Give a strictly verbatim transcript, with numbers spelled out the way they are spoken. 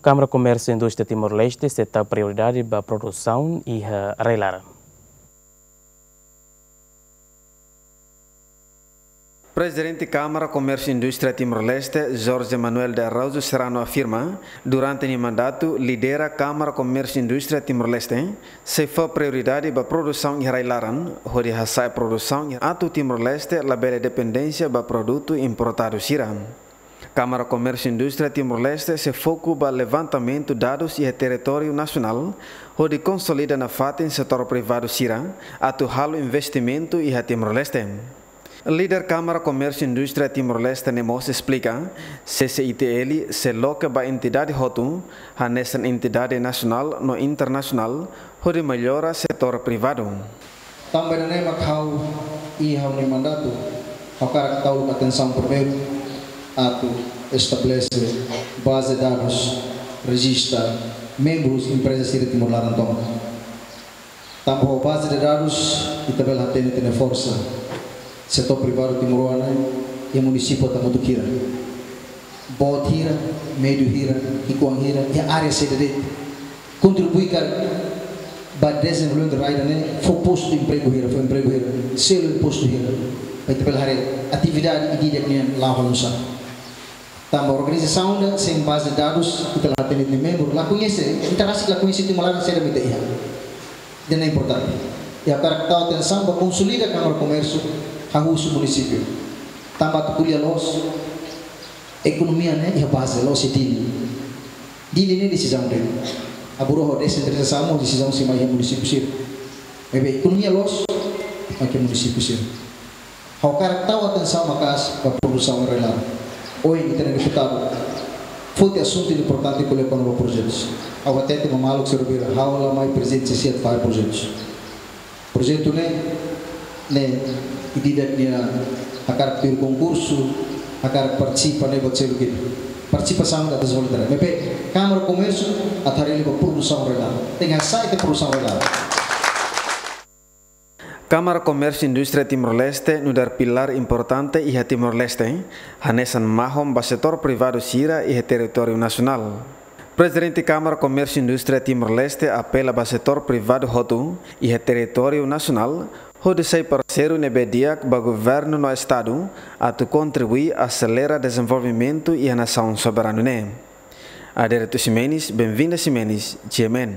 Kámara Komérsiu Indústria Timor-Leste sei tau prioridade ba produsaun iha rai-laran. Prezidente Kámara Komérsiu Indústria Timor-Leste, Jorge Manuel de Araújo Serrano afirma, durante nia mandatu lidera Kámara Komérsiu Indústria Timor-Leste, sei fó prioridade ba produsaun iha rai-laran, hodi hasa'e produsaun atu Timor-Leste labele dependénsia ba produtu importadu sira. Kámara Komérsiu Indústria Timor-Leste sei foku ba levantamentu dadus iha territóriu nasionál, hodi konsolida nafatin setór privadu sira atu halo investimentu iha Timor-Leste. Líder Kámara Komérsiu Indústria Timor-Leste ne'e mós esplika, C C I T L sei loke ba entidade hotu, hanesan entidade nasionál no internasionál, hodi mellora setór privadu. Tanba ida-ne'e mak ha'u iha ha'u-nia mandatu, ha'u hakarak tau atensaun primeiru atu estabelese baze dadus, rejista membrus empreza sira Timor laran tomak. Tanba ho baze de dadus ita bele hatene ita-nia forsa setór privadu timoroan ne'e iha munisípiu hamutuk hira. Boot hira, médiu hira, ki'ikoan hira, iha área saida de'it. Kontribui karik ba dezenvolvimentu rai ida-ne'e, fó postu empregu hira, fó empregu hira, selu impostu hira. Ba ita bele haree atividade ida-idak nian la'o halo nusá. Tanba organizasaun ida sein baze dadus, ita la hatene ita-nia membru, la koñese, ita rasik la koñese Timor laran saida mak ita iha. Ida-ne'e importante. I ha'u hakarak tau atensaun ba konsolida Kámara Komérsiu, hahú husi munisípiu. Tanba atu ko'alia loos, ekonomia ne'e iha baze, loos iha Dili. Dili ne'e desizaun de'it. Agora ho desentralizasaun mós desizaun sei mai iha munisípiu sira. Maibé ekonomia loos, mai iha munisípiu sira. Ha'u hakarak tau atensaun maka'as ba produsaun rai-laran. Ohin ita-nia deputadu foti asuntu importante ko'alia kona-ba projetus. Ha'u hatete ba maluk sira, ha'u la mai prezidente C C I T fahe projetus. Projetu ne'e, ne'e ida-idak nia hakarak tuir konkursu, hakarak partisipa ne'e buat seluk ida. Partisipasaun atu dezenvolve rai-laran. Maibé Kámara Komérsiu atu haree liu ba produsaun rai-laran. Tenke hasa'e ita produsaun rai-laran. Kámara Komérsiu Indústria Timor-Leste nu'udar pilár importante iha Timor-Leste, hanesan mahon ba setór privadu sira iha territóriu nasionál. Prezidente Kámara Komérsiu Indústria Timor-Leste apela ba setór privadu hotu iha territóriu nasionál, hodi sai parseiru ne'ebé di'ak ba governu no estadu, atu kontribui aselera dezenvolvimentu iha nasaun soberanu ne'e. Adérito Ximenes, Benvinda Ximenes, G M N.